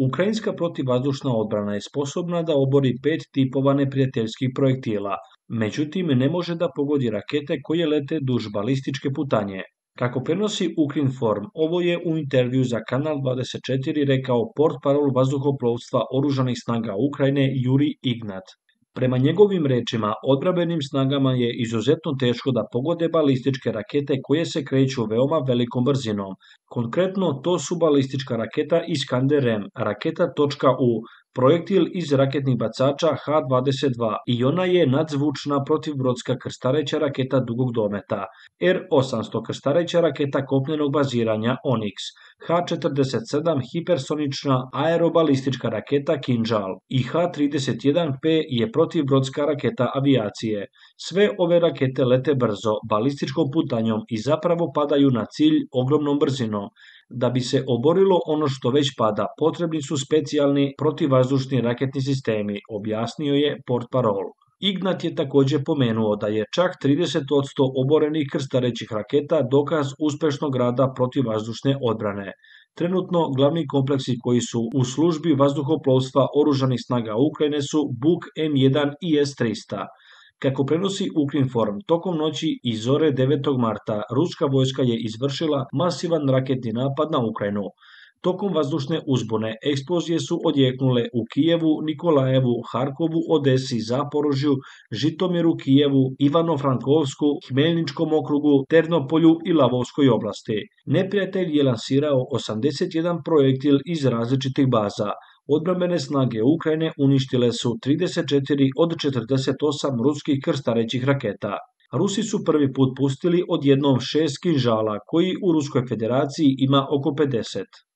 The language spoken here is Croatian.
Ukrajinska protivvazdušna odbrana je sposobna da obori 5 tipova neprijateljskih projektila, međutim ne može da pogodi rakete koje lete duž balističke putanje. Kako prenosi Ukrinform, ovo je u intervju za Kanal 24 rekao portparol vazduhoplovstva oružanih snaga Ukrajine Juri Ignat. Prema njegovim rečima, odbrambenim snagama je izuzetno teško da pogode balističke rakete koje se kreću veoma velikom brzinom. Konkretno, to su balistička raketa Iskander-M, raketa .U, projektil iz raketnih bacača H-22 i ona je nadzvučna protivbrodska krstareća raketa dugog dometa, R-800 krstareća raketa kopnenog baziranja Onyx, H-47 hipersonična aerobalistička raketa Kinžal i H-31P je protivbrodska raketa avijacije. Sve ove rakete lete brzo, balističkom putanjom i zapravo padaju na cilj ogromnom brzinom. Da bi se oborilo ono što već pada, potrebni su specijalni protivvazdušni raketni sistemi, objasnio je portparol. Ignat je također pomenuo da je čak 30% oborenih krstarećih raketa dokaz uspešnog rada protivvazdušne odbrane. Trenutno glavni kompleksi koji su u službi vazduhoplovstva oružanih snaga Ukrajine su Buk M1 i S-300. Kako prenosi Ukrinform, tokom noći i zore 9. marta ruska vojska je izvršila masivan raketni napad na Ukrajinu. Tokom vazdušne uzbune eksplozije su odjeknule u Kijevu, Nikolajevu, Harkovu, Odesi, Zaporožju, Žitomiru, Kijevu, Ivano-Frankovsku, Hmeljničkom okrugu, Ternopolju i Lavovskoj oblasti. Neprijatelj je lansirao 81 projektil iz različitih baza. Odbrambene snage Ukrajine uništile su 34 od 48 ruskih krstarećih raketa. Rusi su prvi put pustili odjednom 6 kinžala, koji u Ruskoj federaciji ima oko 50.